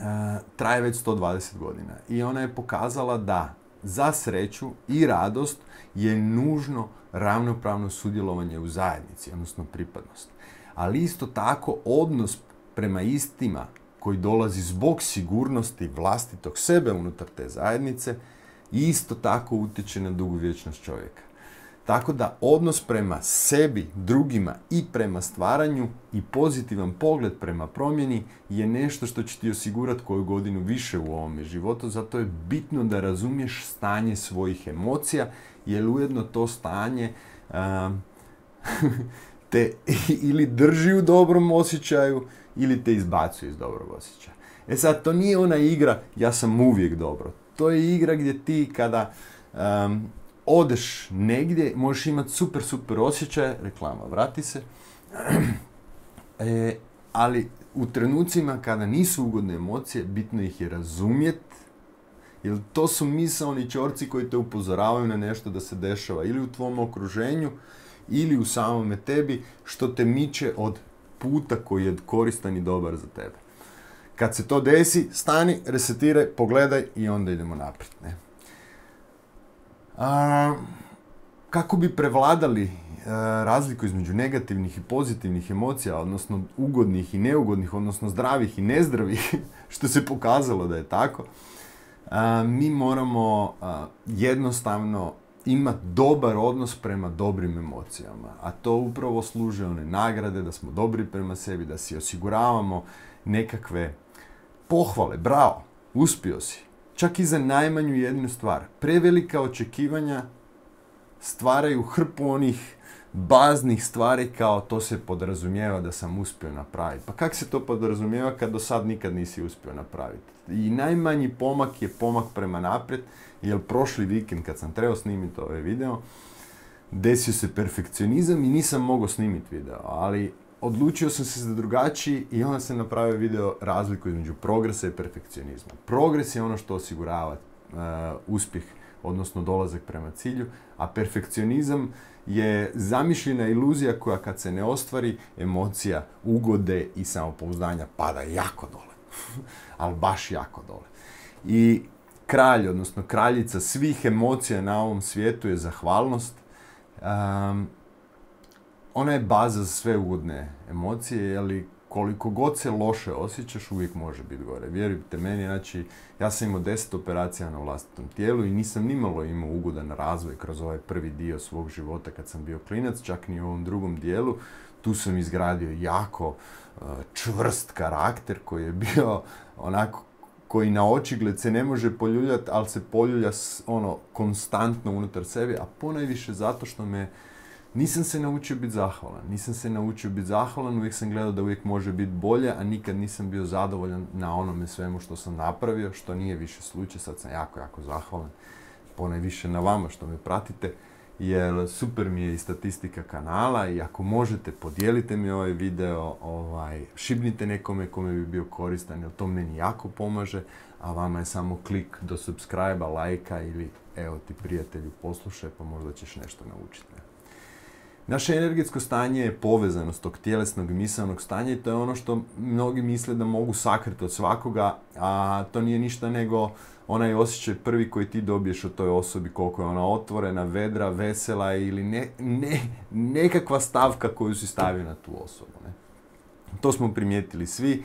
a, traje već sto dvadeset godina i ona je pokazala da za sreću i radost je nužno ravnopravno sudjelovanje u zajednici, odnosno pripadnost. Ali isto tako odnos prema istima koji dolazi zbog sigurnosti vlastitog sebe unutar te zajednice isto tako utječe na dugovječnost čovjeka. Tako da odnos prema sebi, drugima i prema stvaranju i pozitivan pogled prema promjeni je nešto što će ti osigurati koju godinu više u ovome životu. Zato je bitno da razumiješ stanje svojih emocija, jer ujedno to stanje um, te ili drži u dobrom osjećaju ili te izbacuje iz dobrog osjećaja. E sad, to nije ona igra ja sam uvijek dobro. To je igra gdje ti kada um, odeš negdje, možeš imati super, super osjećaje, reklama, vrati se, e, ali u trenucima kada nisu ugodne emocije, bitno ih je razumjeti, jer to su misaoni čorci koji te upozoravaju na nešto da se dešava ili u tvom okruženju, ili u samome tebi, što te miče od puta koji je koristan i dobar za tebe. Kad se to desi, stani, resetiraj, pogledaj i onda idemo naprijed, ne? A, kako bi prevladali a, razliku između negativnih i pozitivnih emocija, odnosno ugodnih i neugodnih, odnosno zdravih i nezdravih, što se pokazalo da je tako, a, mi moramo a, jednostavno imati dobar odnos prema dobrim emocijama. A to upravo služe one nagrade, da smo dobri prema sebi, da si osiguravamo nekakve pohvale, bravo, uspio si. Čak i za najmanju jednu stvar. Prevelika očekivanja stvaraju hrpu onih baznih stvari kao to se podrazumijeva da sam uspio napraviti. Pa kako se to podrazumijeva kad do sad nikad nisi uspio napraviti? I najmanji pomak je pomak prema naprijed, jer prošli vikend kad sam trebao snimiti ovaj video, desio se perfekcionizam i nisam mogao snimiti video, ali odlučio sam se za drugačiji i onda sam napravio video razliku između progresa i perfekcionizma. Progres je ono što osigurava uh, uspjeh, odnosno dolazak prema cilju, a perfekcionizam je zamišljena iluzija koja kad se ne ostvari, emocija ugode i samopouzdanja pada jako dole. Ali baš jako dole. I kralj, odnosno kraljica svih emocija na ovom svijetu je zahvalnost. Um, Ona je baza za sve ugodne emocije, ali koliko god se loše osjećaš, uvijek može biti gore. Vjerujte meni, znači, ja sam imao deset operacija na vlastitom tijelu i nisam nimalo imao ugodan razvoj kroz ovaj prvi dio svog života kad sam bio klinac, čak ni u ovom drugom dijelu. Tu sam izgradio jako uh, čvrst karakter koji je bio onako, koji na očigled se ne može poljuljati, ali se poljulja ono, konstantno unutar sebe, a ponajviše zato što me nisam se naučio biti zahvalan. Nisam se naučio biti zahvalan, uvijek sam gledao da uvijek može biti bolje, a nikad nisam bio zadovoljan na onome svemu što sam napravio, što nije više slučaj. Sad sam jako, jako zahvalan. Ponajviše na vama što me pratite, jer super mi je i statistika kanala i ako možete, podijelite mi ovaj video, ovaj, šibnite nekome kome bi bio koristan, jer to meni jako pomaže, a vama je samo klik do subscribe-a, lajka ili evo ti prijatelju poslušaj pa možda ćeš nešto naučiti. Ne? Naše energetsko stanje je povezanost tog tjelesnog i misaonog stanja i to je ono što mnogi misle da mogu sakriti od svakoga, a to nije ništa nego onaj osjećaj prvi koji ti dobiješ od toj osobi, koliko je ona otvorena, vedra, vesela ili ne, ne, nekakva stavka koju si stavio na tu osobu. Ne? To smo primijetili svi.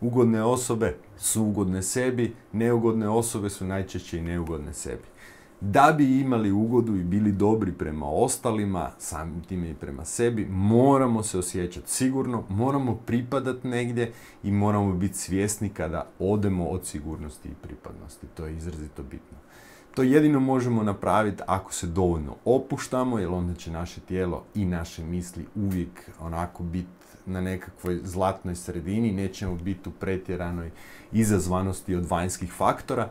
Ugodne osobe su ugodne sebi, neugodne osobe su najčešće i neugodne sebi. Da bi imali ugodu i bili dobri prema ostalima, samim time i prema sebi, moramo se osjećati sigurno, moramo pripadati negdje i moramo biti svjesni kada odemo od sigurnosti i pripadnosti. To je izrazito bitno. To jedino možemo napraviti ako se dovoljno opuštamo, jer onda će naše tijelo i naše misli uvijek onako biti na nekakvoj zlatnoj sredini, nećemo biti u pretjeranoj izazvanosti od vanjskih faktora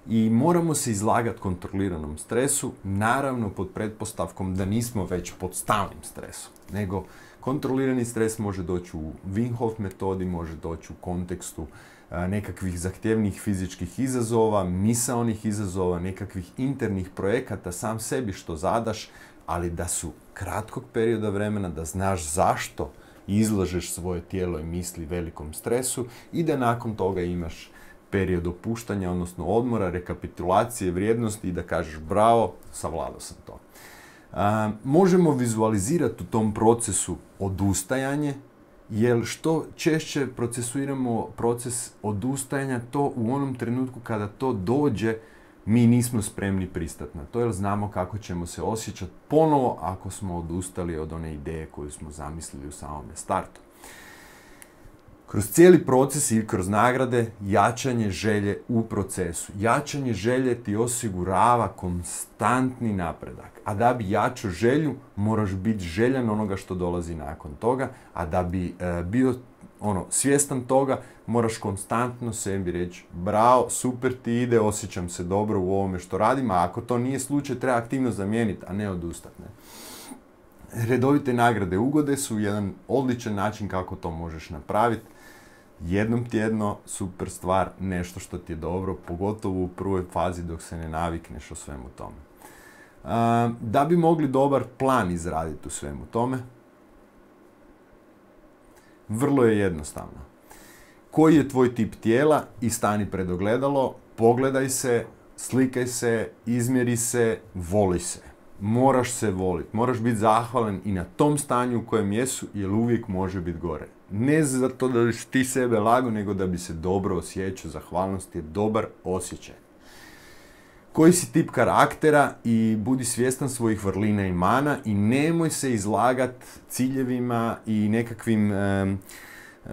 i moramo se izlagati kontroliranom stresu, naravno pod pretpostavkom da nismo već pod stalnim stresom, nego kontrolirani stres može doći u Wim Hof metodi, može doći u kontekstu nekakvih zahtjevnih fizičkih izazova, misaonih izazova, nekakvih internih projekata sam sebi što zadaš, ali da su kratkog perioda vremena, da znaš zašto izlažeš svoje tijelo i misli velikom stresu i da nakon toga imaš period opuštanja, odnosno odmora, rekapitulacije, vrijednosti i da kažeš bravo, savladao sam to. A, možemo vizualizirati u tom procesu odustajanje, jer što češće procesuiramo proces odustajanja, to u onom trenutku kada to dođe, mi nismo spremni pristati na to, jer znamo kako ćemo se osjećati ponovo ako smo odustali od one ideje koju smo zamislili u samome startu. Kroz cijeli proces i kroz nagrade, jačanje želje u procesu. Jačanje želje ti osigurava konstantni napredak. A da bi jačao želju, moraš biti željan onoga što dolazi nakon toga, a da bi e, bio ono, svjestan toga, moraš konstantno sebi reći bravo, super ti ide, osjećam se dobro u ovome što radim, a ako to nije slučaj, treba aktivno zamijeniti, a ne odustati. Ne? Redovite nagrade ugode su jedan odličan način kako to možeš napraviti. Jednom tjedno, super stvar, nešto što ti je dobro, pogotovo u prvoj fazi dok se ne navikneš o svemu tome. Da bi mogli dobar plan izraditi u svemu tome, vrlo je jednostavno. Koji je tvoj tip tijela i stani pred ogledalo, pogledaj se, slikaj se, izmjeri se, voli se. Moraš se voliti, moraš biti zahvalan i na tom stanju u kojem jesu, jer uvijek može biti gore. Ne zato da bi ti sebe lago, nego da bi se dobro osjećao. Zahvalnost je dobar osjećaj. Koji si tip karaktera i budi svjestan svojih vrlina i mana i nemoj se izlagati ciljevima i nekakvim um, uh,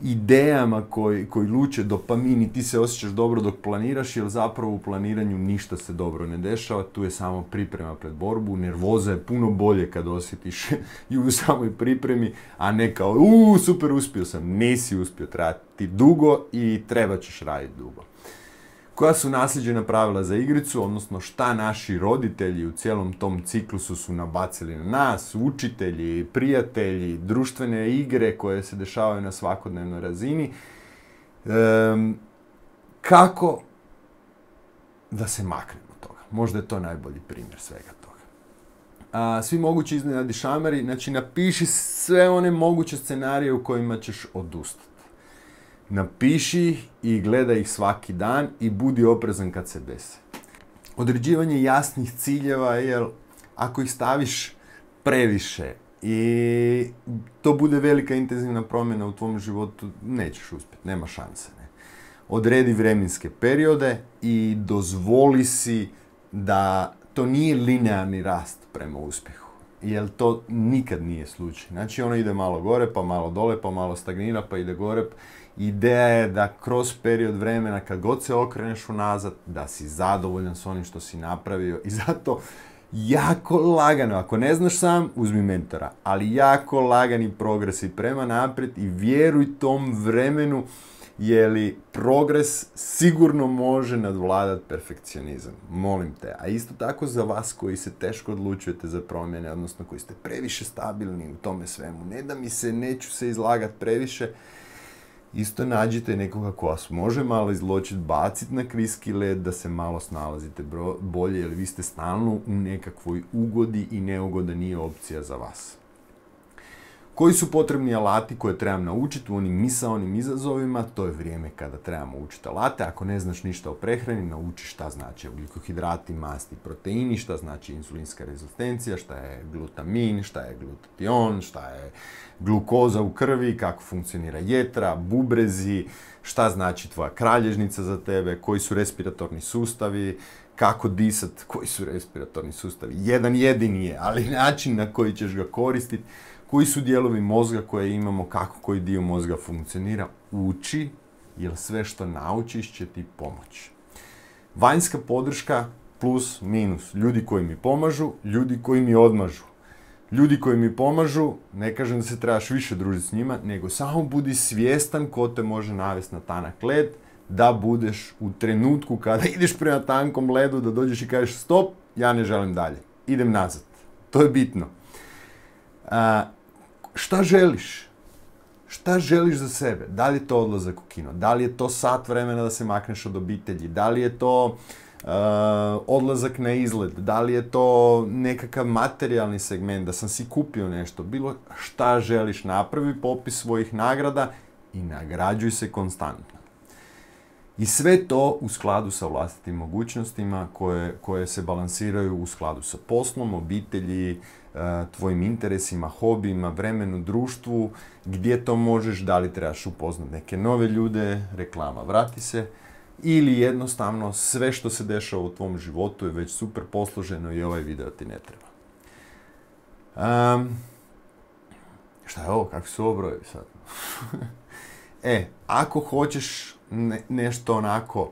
idejama koji, koji luče dopamin i ti se osjećaš dobro dok planiraš, jer zapravo u planiranju ništa se dobro ne dešava, tu je samo priprema pred borbu, nervoza je puno bolje kad osjetiš i u samoj pripremi, a ne kao uuu super uspio sam, nisi uspio, treba ti dugo i treba ćeš raditi dugo. Koja su nasljeđena pravila za igricu, odnosno šta naši roditelji u cijelom tom ciklusu su nabacili na nas, učitelji, prijatelji, društvene igre koje se dešavaju na svakodnevnoj razini. Ehm, kako da se maknemo od toga? Možda je to najbolji primjer svega toga. A, svi mogući iznenadni šamari, znači napiši sve one moguće scenarije u kojima ćeš odustati. Napiši ih i gledaj ih svaki dan i budi oprezan kad se dese. Određivanje jasnih ciljeva, jer ako ih staviš previše i to bude velika intenzivna promjena u tvom životu, nećeš uspjeti, nema šanse. Ne? Odredi vremenske periode i dozvoli si da to nije linearni rast prema uspjehu. Jer to nikad nije slučaj. Znači ono ide malo gore, pa malo dole, pa malo stagnira, pa ide gore. Ideja je da kroz period vremena, kad god se okreneš unazad, da si zadovoljan s onim što si napravio i zato jako lagano, ako ne znaš sam, uzmi mentora, ali jako lagani progresi prema naprijed i vjeruj tom vremenu, jer li progres sigurno može nadvladati perfekcionizam. Molim te. A isto tako za vas koji se teško odlučujete za promjene, odnosno koji ste previše stabilni u tome svemu. Ne da mi se, neću se izlagati previše, isto nađite nekoga ko vas može malo izločiti, baciti na kriski led, da se malo snalazite bolje, jer vi ste stalno u nekakvoj ugodi i neugoda nije opcija za vas. Koji su potrebni alati koje trebam naučiti u onim misaonim izazovima? To je vrijeme kada trebamo učiti alate. Ako ne znaš ništa o prehrani, nauči šta znači ugljikohidrati, masti, proteini, šta znači insulinska rezistencija, šta je glutamin, šta je glutation, šta je glukoza u krvi, kako funkcionira jetra, bubrezi, šta znači tvoja kralježnica za tebe, koji su respiratorni sustavi, kako disat, koji su respiratorni sustavi. Jedan jedini je, ali način na koji ćeš ga koristiti, koji su dijelovi mozga koje imamo, kako koji dio mozga funkcionira, uči, jer sve što naučiš će ti pomoći. Vanjska podrška plus, minus. Ljudi koji mi pomažu, ljudi koji mi odmažu. Ljudi koji mi pomažu, ne kažem da se trebaš više družiti s njima, nego samo budi svjestan ko te može navesti na tanak led, da budeš u trenutku kada ideš prema tankom ledu, da dođeš i kažeš stop, ja ne želim dalje, idem nazad. To je bitno. A, šta želiš? Šta želiš za sebe? Da li je to odlazak u kino? Da li je to sat vremena da se makneš od obitelji? Da li je to uh, odlazak na izlet? Da li je to nekakav materijalni segment, da sam si kupio nešto? Bilo šta želiš, napravi popis svojih nagrada i nagrađuj se konstantno. I sve to u skladu sa vlastitim mogućnostima koje, koje se balansiraju u skladu sa poslom, obitelji, tvojim interesima, hobijima, vremenu, društvu, gdje to možeš, da li trebaš upoznat neke nove ljude, reklama, vrati se, ili jednostavno sve što se dešava u tvom životu je već super posloženo i ovaj video ti ne treba. Um, šta je ovo? Kakvi su ovo brojevi sad? E, ako hoćeš ne, nešto onako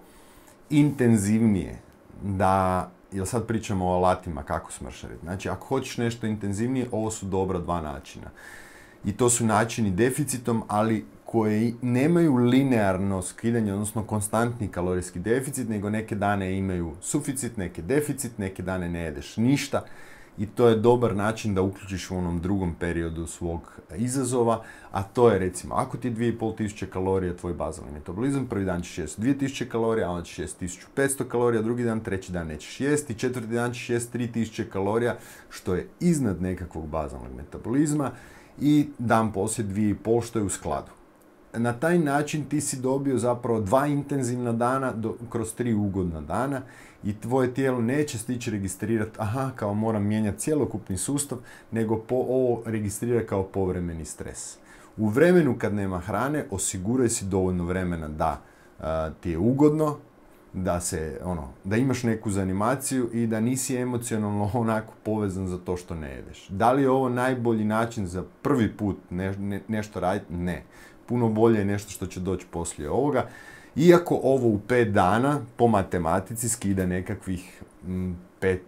intenzivnije, da, jer sad pričamo o alatima kako smršaviti. Znači, ako hoćeš nešto intenzivnije, ovo su dobra dva načina. I to su načini deficitom, ali koji nemaju linearno skidanje, odnosno konstantni kalorijski deficit, nego neke dane imaju suficit, neke deficit, neke dane ne jedeš ništa. I to je dobar način da uključiš u onom drugom periodu svog izazova, a to je recimo, ako ti je dvije i pol tisuće kalorija tvoj bazalni metabolizam, prvi dan ćeš jesti dvije tisuće kalorija, a onda ćeš jesti tisuću petsto kalorija, drugi dan, treći dan nećeš jesti, četvrti dan ćeš jesti tri tisuće kalorija, što je iznad nekakvog bazalnog metabolizma, i dan poslije dvije i pol, što je u skladu. Na taj način ti si dobio zapravo dva intenzivna dana do, kroz tri ugodna dana i tvoje tijelo neće stići registrirati, aha, kao moram mijenjati cjelokupni sustav, nego po, ovo registrira kao povremeni stres. U vremenu kad nema hrane, osiguraj si dovoljno vremena da a, ti je ugodno, da, se, ono, da imaš neku zanimaciju i da nisi emocionalno onako povezan za to što ne jedeš. Da li je ovo najbolji način za prvi put ne, ne, nešto raditi? Ne. Puno bolje je nešto što će doći poslije ovoga. Iako ovo u pet dana po matematici skida nekakvih m, pet,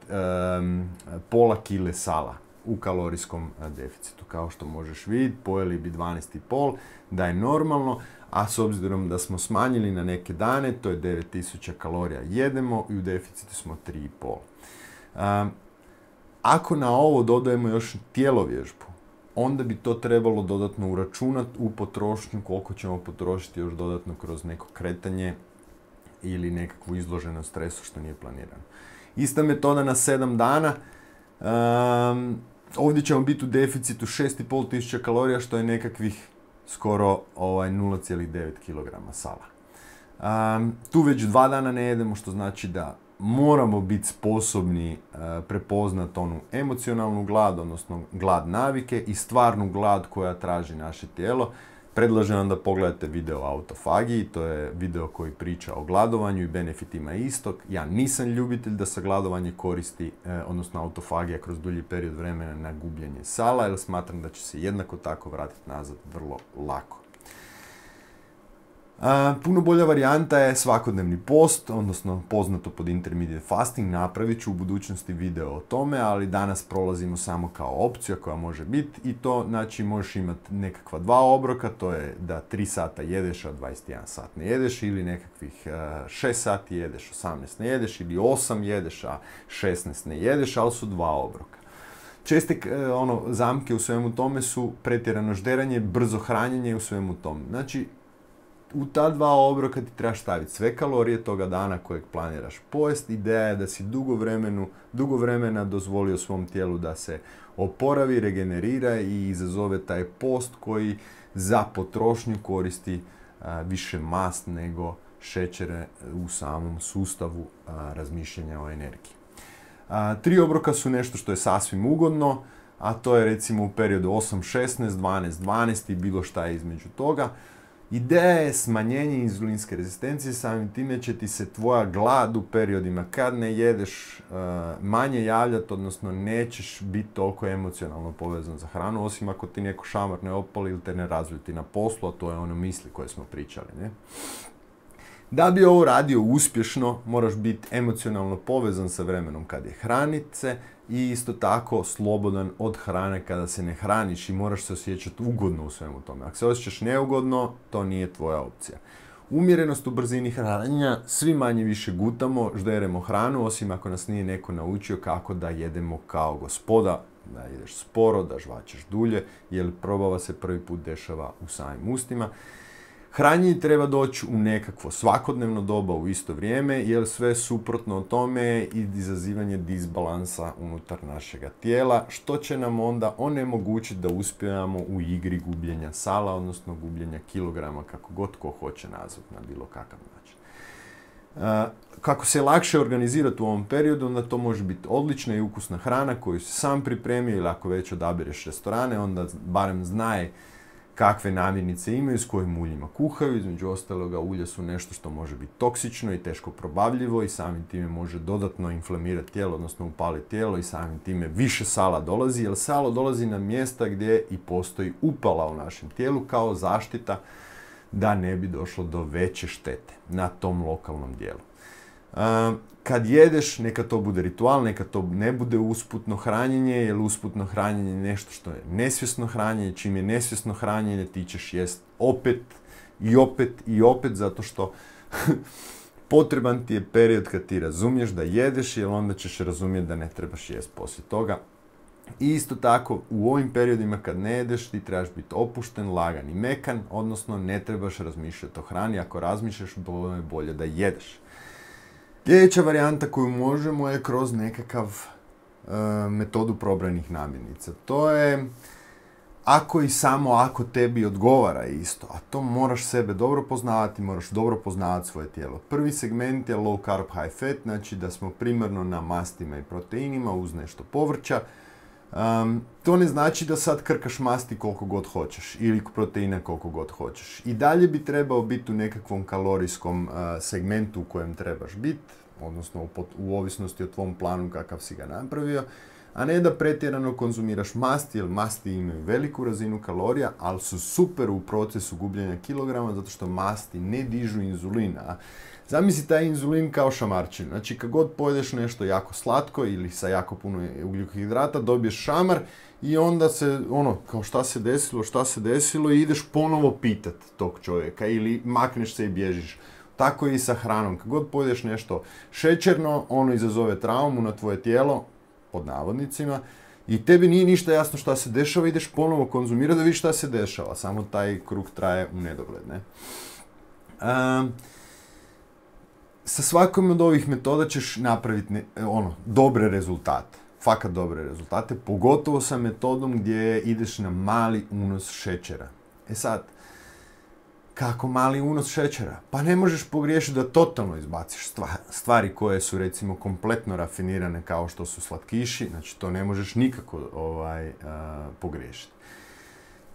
um, pola kile sala u kalorijskom deficitu. Kao što možeš vidjeti, pojeli bi dvanaest i pol, da je normalno, a s obzirom da smo smanjili na neke dane, to je devet tisuća kalorija jedemo i u deficitu smo tri i pol. Um, ako na ovo dodajemo još tjelovježbu, onda bi to trebalo dodatno uračunati u potrošnju, koliko ćemo potrošiti još dodatno kroz neko kretanje ili nekakvu izloženost stresu što nije planirano. Ista metoda na sedam dana. Um, ovdje ćemo biti u deficitu šest i pol tisuća kalorija, što je nekakvih skoro ovaj, nula zarez devet kilograma sala. Um, tu već dva dana ne jedemo, što znači da moramo biti sposobni uh, prepoznati onu emocionalnu glad, odnosno glad navike i stvarnu glad koja traži naše tijelo. Predlažem vam da pogledate video o autofagiji, to je video koji priča o gladovanju i benefitima istog. Ja nisam ljubitelj da se gladovanje koristi, eh, odnosno autofagija kroz dulji period vremena na gubljenje sala, jer smatram da će se jednako tako vratiti nazad vrlo lako. Uh, puno bolja varijanta je svakodnevni post, odnosno poznato pod intermediate fasting. Napravit ću u budućnosti video o tome, ali danas prolazimo samo kao opcija koja može biti, i to znači možeš imati nekakva dva obroka, to je da tri sata jedeš, a dvadeset jedan sat ne jedeš, ili nekakvih uh, šest sati jedeš, osamnaest ne jedeš, ili osam jedeš, a šesnaest ne jedeš, ali su dva obroka. Česte uh, ono, zamke u svemu tome su pretjerano žderanje, brzo hranjenje u svemu tome. Znači, u ta dva obroka ti trebaš staviti sve kalorije toga dana kojeg planiraš pojesti. Ideja je da si dugo, vremenu, dugo vremena dozvolio svom tijelu da se oporavi, regenerira i izazove taj post koji za potrošnju koristi a, više mast nego šećere u samom sustavu a, razmišljanja o energiji. A, tri obroka su nešto što je sasvim ugodno, a to je recimo u periodu osam šesnaest, dvanaest dvanaest i bilo šta je između toga. Ideja je smanjenje inzulinske rezistencije, samim time će ti se tvoja glad u periodima kad ne jedeš uh, manje javljati, odnosno nećeš biti toliko emocionalno povezan za hranu, osim ako ti neko šamar ne opali ili te ne razljuti na poslu, a to je ono misli koje smo pričali, ne? Da bi ovo radio uspješno, moraš biti emocionalno povezan sa vremenom kad je hranit se i isto tako slobodan od hrane kada se ne hraniš i moraš se osjećati ugodno u svemu tome. Ako se osjećaš neugodno, to nije tvoja opcija. Umjerenost u brzini hranjenja, svi manje više gutamo, žderemo hranu, osim ako nas nije neko naučio kako da jedemo kao gospoda, da jedeš sporo, da žvačeš dulje, jer probava se prvi put dešava u samim ustima. Hranjenje treba doći u nekakvo svakodnevno doba u isto vrijeme, jer sve suprotno o tome je i izazivanje disbalansa unutar našega tijela, što će nam onda onemogućiti da uspijemo u igri gubljenja sala, odnosno gubljenja kilograma, kako god ko hoće nazvati na bilo kakav način. Kako se lakše organizirati u ovom periodu, onda to može biti odlična i ukusna hrana koju si sam pripremio, ili ako već odabireš restorane, onda barem znaj kakve namirnice imaju, s kojim uljima kuhaju. Između ostaloga, ulja su nešto što može biti toksično i teško probavljivo i samim time može dodatno inflamirati tijelo, odnosno upaliti tijelo i samim time više sala dolazi, jer salo dolazi na mjesta gdje i postoji upala u našem tijelu kao zaštita da ne bi došlo do veće štete na tom lokalnom dijelu. Kad jedeš, neka to bude ritual, neka to ne bude usputno hranjenje, jer usputno hranjenje je nešto što je nesvjesno hranjenje. Čim je nesvjesno hranjenje, ti ćeš jest opet i opet i opet, zato što potreban ti je period kad ti razumiješ da jedeš, jer onda ćeš razumjeti da ne trebaš jest poslije toga. I isto tako, u ovim periodima kad ne jedeš, ti trebaš biti opušten, lagan i mekan, odnosno ne trebaš razmišljati o hrani. Ako razmišljaš, bolje je bolje da jedeš. Sljedeća varijanta koju možemo je kroz nekakav e, metodu probranih namirnica. To je ako i samo ako tebi odgovara isto, a to moraš sebe dobro poznavati, moraš dobro poznavati svoje tijelo. Prvi segment je low carb, high fat, znači da smo primarno na mastima i proteinima uz nešto povrća. Um, to ne znači da sad krkaš masti koliko god hoćeš ili proteina koliko god hoćeš. I dalje bi trebao biti u nekakvom kalorijskom uh, segmentu u kojem trebaš biti, odnosno u, u ovisnosti o tvom planu kakav si ga napravio, a ne da pretjerano konzumiraš masti, jer masti imaju veliku razinu kalorija, ali su super u procesu gubljenja kilograma, zato što masti ne dižu inzulina. Zamisli taj inzulin kao šamarčinu. Znači, kad god pojedeš nešto jako slatko ili sa jako puno ugljikohidrata, dobiješ šamar i onda se, ono, kao šta se desilo, šta se desilo i ideš ponovo pitat tog čovjeka ili makneš se i bježiš. Tako je i sa hranom. Kad god pojedeš nešto šećerno, ono izazove traumu na tvoje tijelo, pod navodnicima, i tebi nije ništa jasno šta se dešava, ideš ponovo konzumirati da vidiš šta se dešava. Samo taj krug traje u nedogled, ne? Um, Sa svakom od ovih metoda ćeš napraviti ne, ono, dobre rezultate. Fakat dobre rezultate, pogotovo sa metodom gdje ideš na mali unos šećera. E sad, kako mali unos šećera? Pa ne možeš pogriješiti da totalno izbaciš stvari koje su recimo kompletno rafinirane kao što su slatkiši, znači to ne možeš nikako ovaj, uh, pogriješiti.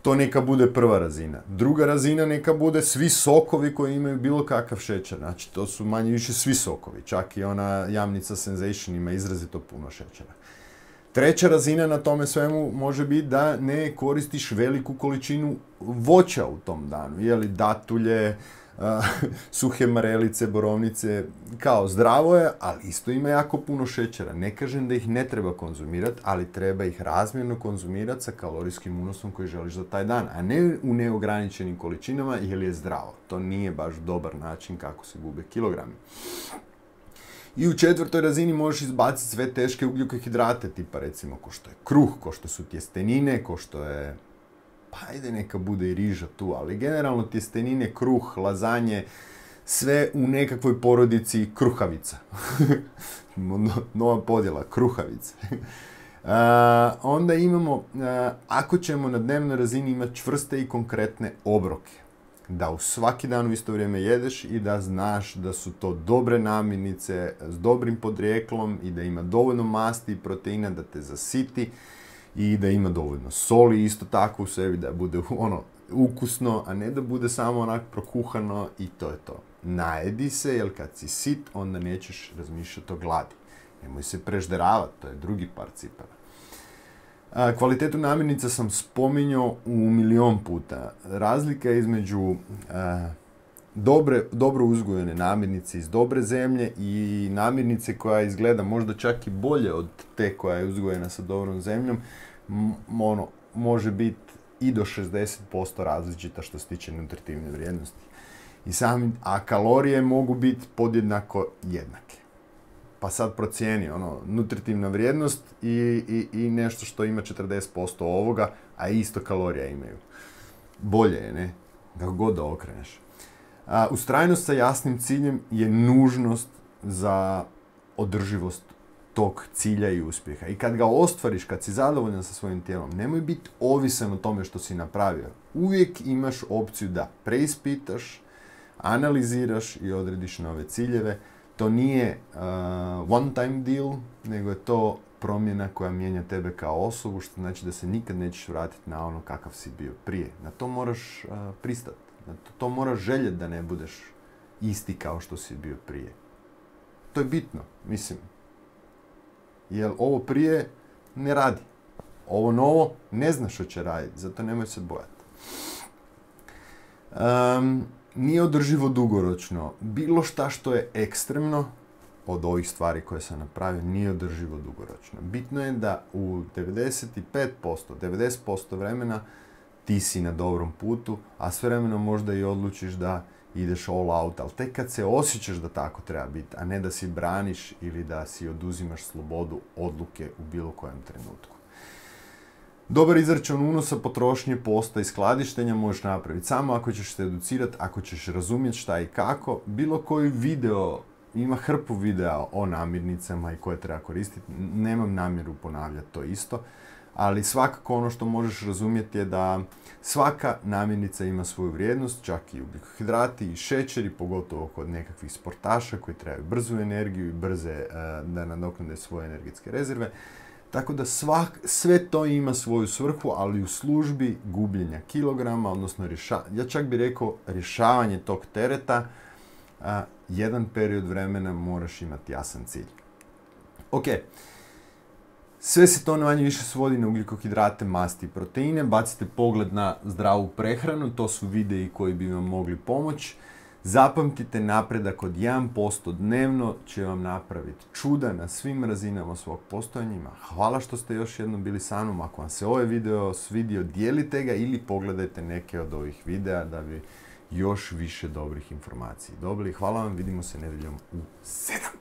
To neka bude prva razina. Druga razina neka bude svi sokovi koji imaju bilo kakav šećer. Znači, to su manje više svi sokovi. Čak i ona jamnica Sensation ima izrazito puno šećera. Treća razina na tome svemu može biti da ne koristiš veliku količinu voća u tom danu. Jeli datulje, uh, suhe marelice, borovnice, kao zdravo je, ali isto ima jako puno šećera. Ne kažem da ih ne treba konzumirati, ali treba ih razmjerno konzumirati sa kalorijskim unosom koji želiš za taj dan, a ne u neograničenim količinama jer je zdravo. To nije baš dobar način kako se gube kilogrami. I u četvrtoj razini možeš izbaciti sve teške ugljikohidrate, tipa recimo ko što je kruh, ko što su tjestenine, ko što je, pa ajde neka bude i riža tu, ali generalno tjestenine, kruh, lazanje, sve u nekakvoj porodici kruhavica. Nova podjela, kruhavice. Uh, onda imamo, uh, ako ćemo na dnevnoj razini imati čvrste i konkretne obroke, da u svaki dan u isto vrijeme jedeš i da znaš da su to dobre namirnice s dobrim podrijetlom i da ima dovoljno masti i proteina da te zasiti i da ima dovoljno soli isto tako u sebi, da bude ono ukusno, a ne da bude samo onak prokuhano i to je to. Najedi se, jer kad si sit, onda nećeš razmišljati o gladi. Nemoj se prežderavati, to je drugi par cipela. A, kvalitetu namirnica sam spominjao u milion puta. Razlika između a, dobre, dobro uzgojene namirnice iz dobre zemlje i namirnice koja izgleda možda čak i bolje od te koja je uzgojena sa dobrom zemljom, m, ono, može biti i do šezdeset posto različita što se tiče nutritivne vrijednosti. I sami, a kalorije mogu biti podjednako jednake. Pa sad procijeni ono, nutritivna vrijednost i, i, i nešto što ima četrdeset posto ovoga, a isto kalorija imaju. Bolje je, ne? Kako god da okreneš. A, ustrajnost sa jasnim ciljem je nužnost za održivost tog cilja i uspjeha. I kad ga ostvariš, kad si zadovoljan sa svojim tijelom, nemoj biti ovisan o tome što si napravio. Uvijek imaš opciju da preispitaš, analiziraš i odrediš nove ciljeve. To nije uh, one time deal, nego je to promjena koja mijenja tebe kao osobu, što znači da se nikad nećeš vratiti na ono kakav si bio prije. Na to moraš uh, pristati. Na to, to moraš željeti da ne budeš isti kao što si bio prije. To je bitno, mislim. Jer ovo prije ne radi. Ovo novo ne zna što će raditi, zato nemoj se bojati. Um, nije održivo dugoročno. Bilo šta što je ekstremno od ovih stvari koje sam napravio nije održivo dugoročno. Bitno je da u devedeset pet posto, devedeset posto vremena ti si na dobrom putu, a s vremenom možda i odlučiš da ideš all out, ali tek kad se osjećaš da tako treba biti, a ne da si braniš ili da si oduzimaš slobodu odluke u bilo kojem trenutku. Dobar izračun unosa, potrošnje, posta i skladištenja možeš napraviti samo ako ćeš se educirati, ako ćeš razumjeti šta i kako. Bilo koji video, ima hrpu videa o namirnicama i koje treba koristiti, nemam namjeru ponavljati to isto, ali svakako ono što možeš razumjeti je da svaka namirnica ima svoju vrijednost, čak i ugljikohidrati i šećeri, pogotovo kod nekakvih sportaša koji trebaju brzu energiju i brze uh, da nadoknade svoje energetske rezerve. Tako da svak, sve to ima svoju svrhu, ali u službi gubljenja kilograma, odnosno rješa, ja čak bih rekao rješavanje tog tereta, a, jedan period vremena moraš imati jasan cilj. Ok, sve se to manje više svodi na ugljikohidrate, masti i proteine. Bacite pogled na zdravu prehranu, to su videi koji bi vam mogli pomoći. Zapamtite, napredak od jedan posto dnevno će vam napraviti čuda na svim razinama svog postojanja. Hvala što ste još jednom bili sa mnom. Ako vam se ovaj video svidio, dijelite ga ili pogledajte neke od ovih videa da bi još više dobrih informacija dobili. Hvala vam, vidimo se nedjeljom u sedam.